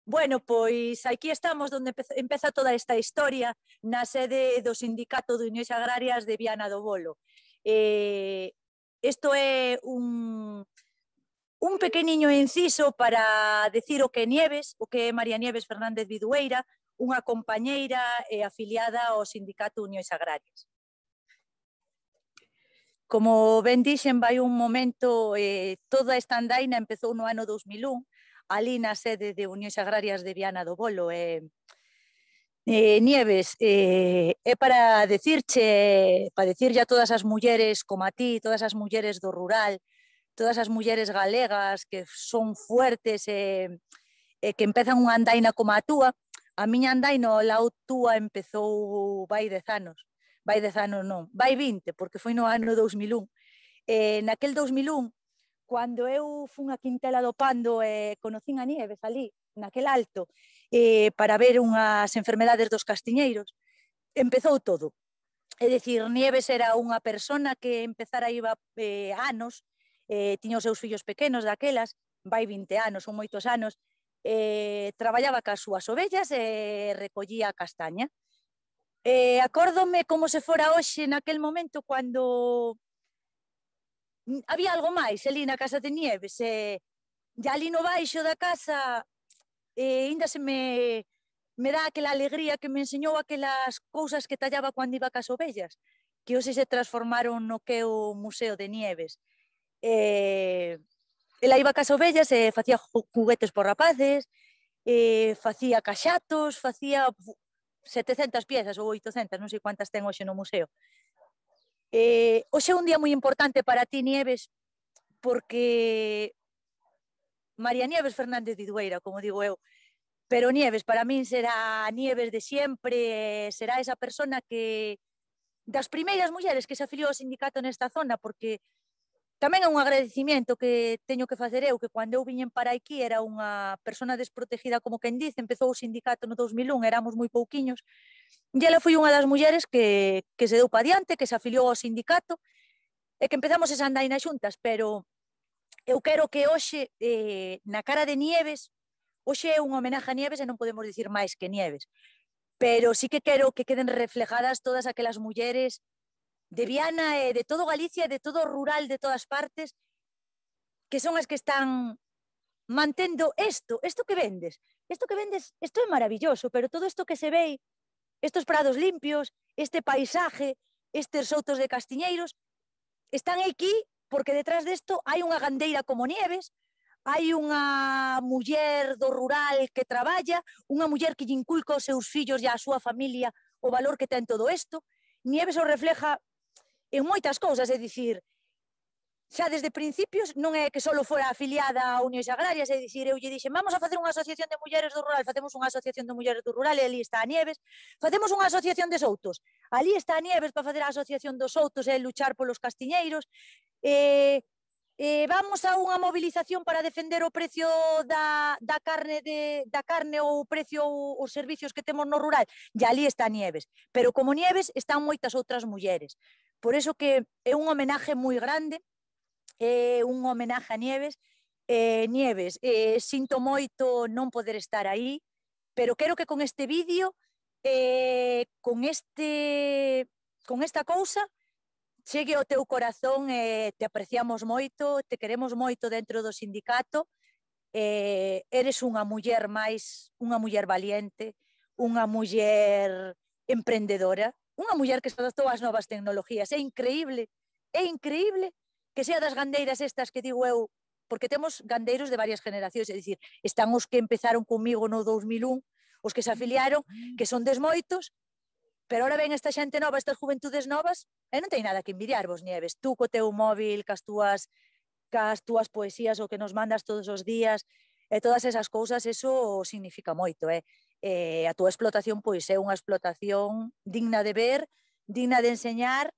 Bueno, pois aquí estamos onde empeza toda esta historia na sede do Sindicato de Unións Agrarias de Viana do Bolo. Isto é un pequeniño inciso para decir o que é Nieves, o que é María Nieves Fernández Vidueira, unha compañeira e afiliada ao Sindicato de Unións Agrarias. Como ben dixen, vai un momento, toda esta andaina empezou no ano 2001, ali na sede de Unións Agrarias de Viana do Bolo. Nieves, é para decirche a todas as mulleres como a ti, todas as mulleres do rural, todas as mulleres galegas que son fuertes e que empezan unha andaina como a túa. A miña andaina ao lado túa empezou vai 10 anos. Vai 10 anos non, vai 20, porque foi no ano 2001. Naquel 2001, cando eu fun a Quintela do Pando e conocín a Nieves ali, naquel alto, para ver unhas enfermedades dos castiñeiros, empezou todo. É dicir, Nieves era unha persona que empezara iba anos, tiña os seus fillos pequenos daquelas, vai 20 anos, son moitos anos, traballaba cas súas ovellas e recollía a castaña. Acórdome como se fora hoxe naquel momento cando había algo máis ali na casa de Nieves, e ali no baixo da casa ainda se me dá aquela alegría que me enseñou aquelas cousas que tallaba cando iba cas ovellas, que hoxe se transformaron no que é o Museo de Nieves. Ela iba cas ovellas e facía juguetes por rapaces, facía caxatos, facía 700 piezas ou 800, non sei cuántas ten hoxe no museo. Hoxe é un día moi importante para ti, Nieves, porque María Nieves Fernández Vidueira, como digo eu, pero Nieves para min será Nieves de sempre, será esa persona que das primeiras mulleres que se afiliou ao sindicato nesta zona, porque tamén é un agradecimiento que teño que facer eu, que cando eu viñen para aquí era unha persona desprotegida, como quen dice, empezou o sindicato no 2001, éramos moi pouquiños, e ela foi unha das mulleres que se deu pa diante, que se afiliou ao sindicato, e que empezamos esa andaina xuntas, pero eu quero que hoxe, na cara de Nieves, hoxe é unha homenaje a Nieves e non podemos dicir máis que Nieves, pero sí que quero que queden reflejadas todas aquelas mulleres de Viana e de todo Galicia, de todo o rural, de todas partes, que son as que están mantendo isto que vendes, isto é maravilloso, pero todo isto que se ve, estos prados limpios, este paisaje, estes soutos de castiñeiros, están aquí porque detrás desto hai unha gandeira como Nieves, hai unha muller do rural que traballa, unha muller que lle inculca aos seus fillos e á súa familia o valor que ten todo isto. Nieves o refleja en moitas cousas, é dicir, xa desde principios non é que só fora afiliada a Unións Agrarias, é dicir, eu lle dixen, vamos a facer unha asociación de mulleres do rural, facemos unha asociación de mulleres do rural e ali está a Nieves, facemos unha asociación de soutos, ali está a Nieves para facer a asociación dos soutos e luchar polos castiñeiros, vamos a unha movilización para defender o precio da carne ou o precio os servicios que temos no rural, e ali está Nieves, pero como Nieves están moitas outras mulleres, por iso que é un homenaje moi grande, é un homenaje a Nieves. Nieves, sinto moito non poder estar aí, pero quero que con este vídeo, con esta cousa, chegue ao teu corazón, te apreciamos moito, te queremos moito dentro do sindicato, eres unha muller máis, unha muller valiente, unha muller emprendedora, unha muller que se adaptou ás novas tecnologías. É increíble que sea das gandeiras estas que digo eu, porque temos gandeiros de varias generacións, é dicir, están os que empezaron comigo no 2001, os que se afiliaron, que son desmoitos, pero ahora ven esta xente nova, estas juventudes novas, e non ten nada que envidiarvos, Nieves. Tú co teu móvil, cas túas poesías, o que nos mandas todos os días, e todas esas cousas, eso significa moito, a túa explotación, pois, é unha explotación digna de ver, digna de enseñar,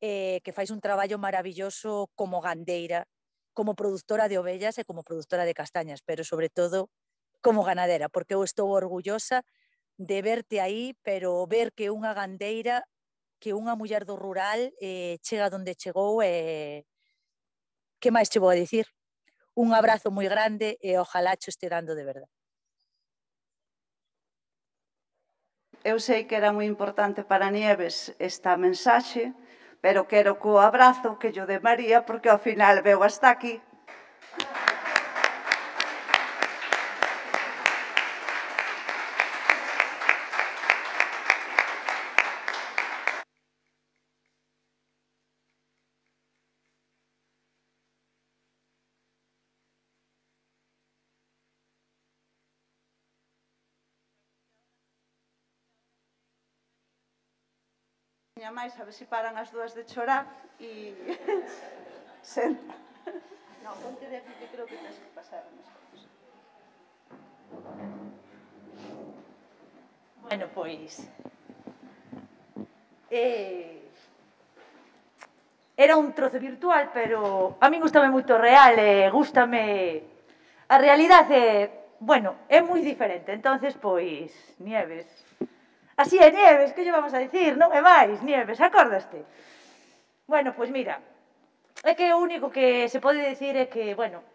que fais un traballo maravilloso como gandeira, como produtora de ovellas e como produtora de castañas, pero sobre todo como ganadera, porque eu estou orgullosa de verte aí, pero ver que unha gandeira, que unha muller do rural chega onde chegou, que máis che vou a dicir? Un abrazo moi grande e ojalá cho este dando de verdade. eu sei que era moi importante para Nieves esta mensaxe, pero quero co abrazo que yo de María, porque ao final veu hasta aquí. Máis, a ver se paran as dúas de chorar e... Senta. Non, ponte de aquí que creo que tens que pasar unhas cousas. Bueno, pois... Era un trozo virtual, pero a min gustame moito o real e gustame... A realidade, bueno, é moi diferente. Entonces, pois, Nieves... Así é, Nieves, que lle vamos a dicir? Non é máis, Nieves, acordaste? Bueno, pois mira, é que o único que se pode dicir é que, bueno,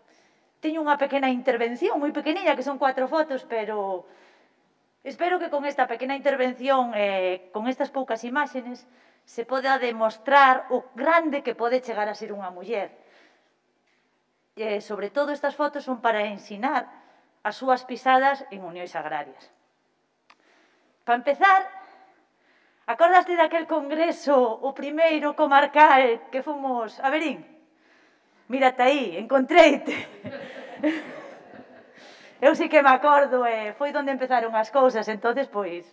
teño unha pequena intervención, moi pequeniña, que son 4 fotos, pero espero que con esta pequena intervención, con estas poucas imágenes, se poda demostrar o grande que pode chegar a ser unha muller. Sobre todo, estas fotos son para ensinar as súas pisadas en unións agrarias. Para empezar, acordaste daquel congreso, o primeiro comarcal que fomos a Verín? Mírate aí, encontreite. Eu sí que me acordo, foi onde empezaron as cousas, entonces, pois...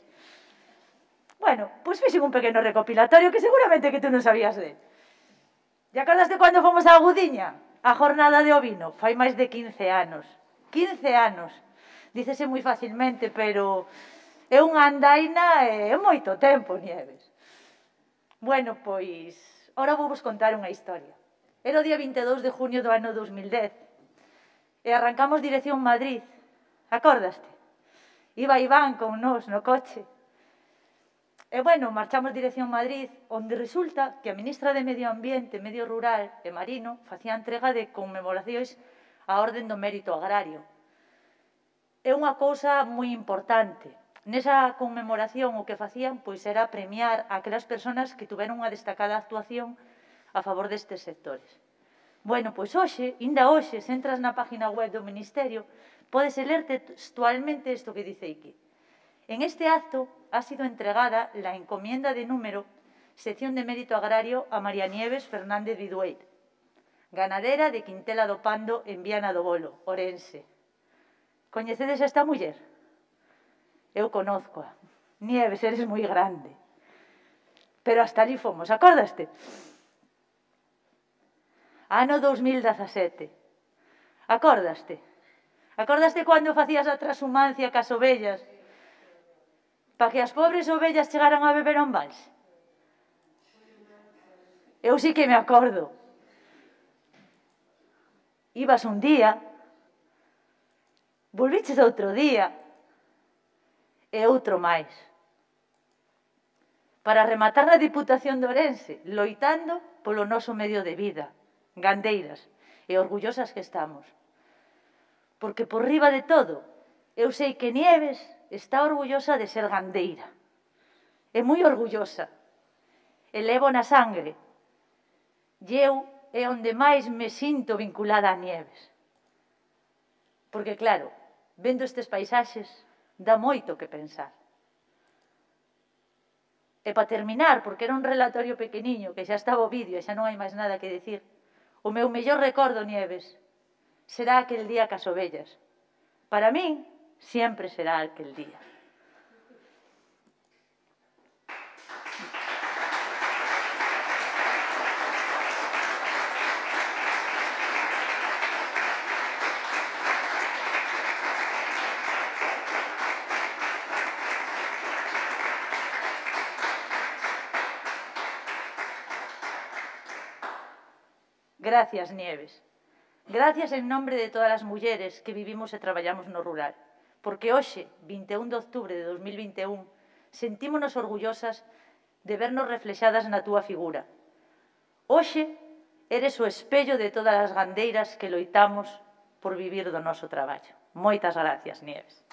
Bueno, pois fixen un pequeno recopilatorio que seguramente que tú non sabías de. E acordaste cando fomos a Agudiña? A jornada de ovino, fai máis de 15 anos. 15 anos. Dícese moi facilmente, pero... É unha andaina e é moito tempo, Nieves. Bueno, pois, ora vou vos contar unha historia. Era o día 22 de junio do ano 2010 e arrancamos dirección Madrid. Acordaste? Iba Iván con nós no coche. E, bueno, marchamos dirección Madrid, onde resulta que a ministra de Medio Ambiente, Medio Rural e Marino facía entrega de conmemoracións á Orden do Mérito Agrario. É unha cousa moi importante. Nesa conmemoración o que facían pois era premiar a aquelas persoas que tuveron unha destacada actuación a favor destes sectores. Bueno, pois hoxe, inda hoxe, se entras na página web do Ministerio, podes ler textualmente isto que dice aquí. En este acto ha sido entregada la encomienda de número Sección de Mérito Agrario a María Nieves Fernández Vidueit, ganadera de Quintela do Pando en Viana do Bolo, Orense. Coñecedes esta muller? Eu conozcoa. Nieves, eres moi grande. Pero hasta ali fomos, acordaste? Ano 2017. Acordaste? Acordaste cando facías a transhumancia cas ovellas para que as pobres ovellas chegaran a beber a un vals? Eu sí que me acordo. Ibas un día, volviches outro día, e outro máis. Para rematar na Diputación de Ourense, loitando polo noso medio de vida, gandeiras, e orgullosas que estamos. Porque por riba de todo, eu sei que Nieves está orgullosa de ser gandeira. É moi orgullosa. E levo na sangre. E eu é onde máis me sinto vinculada a Nieves. Porque, claro, vendo estes paisaxes, dá moito que pensar. E para terminar, porque era un relatorio pequeniño, que xa estaba o vídeo e xa non hai máis nada que dicir, o meu mellor recordo, Nieves, será aquel día cas ovellas. Para min, sempre será aquel día. Gracias, Nieves. Gracias en nombre de todas as mulleres que vivimos e traballamos no rural. Porque hoxe, 21 de outubro de 2021, sentímonos orgullosas de vernos reflexadas na túa figura. Hoxe, eres o espello de todas as gandeiras que loitamos por vivir do noso traballo. Moitas gracias, Nieves.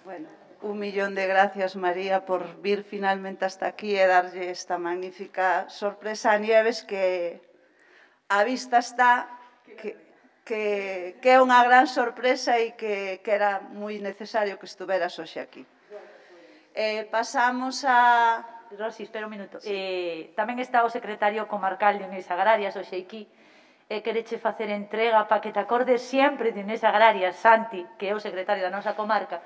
Bueno, un millón de gracias, María, por vir finalmente hasta aquí e darlle esta magnífica sorpresa a Nieves que a vista está que é unha gran sorpresa e que era moi necesario que estuveras hoxe aquí. Pasamos a... Rosy, espera un minuto. Tamén está o secretario comarcal de Uniones Agrarias, o Xeiquí, quereche facer entrega para que te acordes sempre de Uniones Agrarias, Santi, que é o secretario da nosa comarca,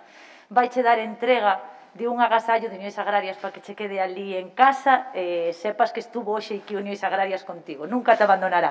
vaiche dar entrega de un agasallo de Uniones Agrarias para que che quede ali en casa, sepas que estuvo hoxe aquí Uniones Agrarias contigo, nunca te abandonará.